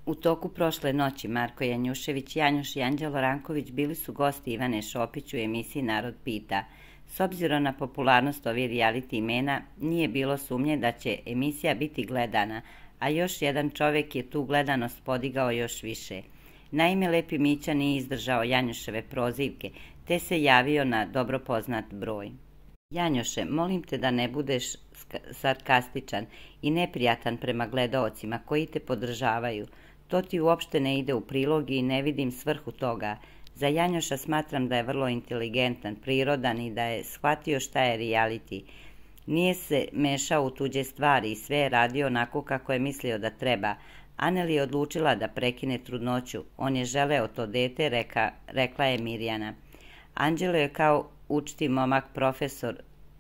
U toku prošle noći Marko Janjušević, Janjuš i Anđelo Ranković bili su gosti Ivane Šopić u emisiji Narod pita. S obzirom na popularnost ovih reality imena, nije bilo sumnje da će emisija biti gledana, a još jedan čovjek je tu gledanost podigao još više. Naime, Lepi Mića nije izdržao Janjuševe prozivke, te se javio na dobro poznat broj. Janjuše, molim te da ne budeš sarkastičan i neprijatan prema gledaocima koji te podržavaju. To ti uopšte ne ide u prilog i ne vidim svrhu toga. Za Janjuša smatram da je vrlo inteligentan, prirodan i da je shvatio šta je reality. Nije se mešao u tuđe stvari i sve je radio onako kako je mislio da treba. Anel je odlučila da prekine trudnoću. On je želeo to dete, rekla je Mirjana. Anđelo je kao učti momak profesor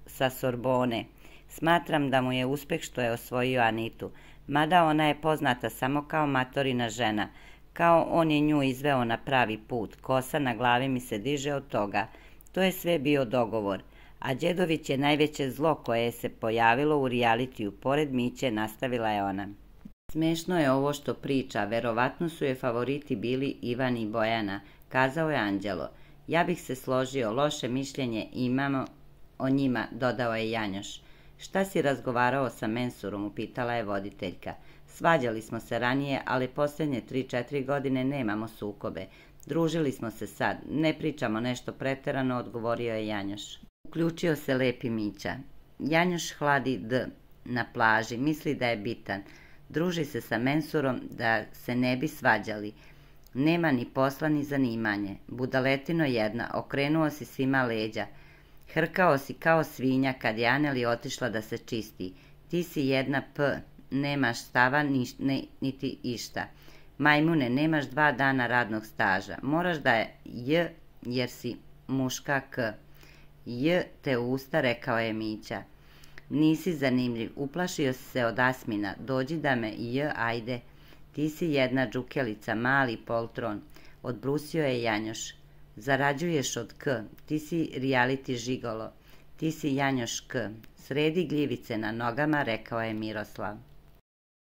sa Sorbone. Smatram da mu je uspeh što je osvojio Anitu, mada ona je poznata samo kao matorina žena. Kao on je nju izveo na pravi put, kosa na glavi mi se diže od toga. To je sve bio dogovor. A Đedović je najveće zlo koje je se pojavilo u realitiju, pored Miće, nastavila je ona. Smešno je ovo što priča, verovatno su je favoriti bili Ivan i Bojana, kazao je Anđelo. Ja bih se složio, loše mišljenje imamo o njima, dodao je Janjuš. Šta si razgovarao sa Mensurom, upitala je voditeljka. Svađali smo se ranije, ali posljednje 3-4 godine nemamo sukobe. Družili smo se sad, ne pričamo nešto preterano, odgovorio je Janjuš. Uključio se Lepi Mića. Janjuš hladi na plaži, misli da je bitan. Druži se sa Mensurom da se ne bi svađali. Nema ni posla ni zanimanje. Budaletino jedna, okrenuo si svima leđa. Hrkao si kao svinja kad je Aneli otišla da se čisti. Ti si jedna nemaš stava niti išta. Majmune, nemaš 2 dana radnog staža. Moraš da je jer si muška k. Te usta, rekao je Mića. Nisi zanimljiv, uplašio si se od Asmina. Dođi da me ajde. Ti si jedna džukelica, mali poltron. Odbrusio je Janjuš. Zarađuješ od k. Ti si reality žigolo. Ti si Janjuš k. Sredi gljivice na nogama, rekao je Miroslav.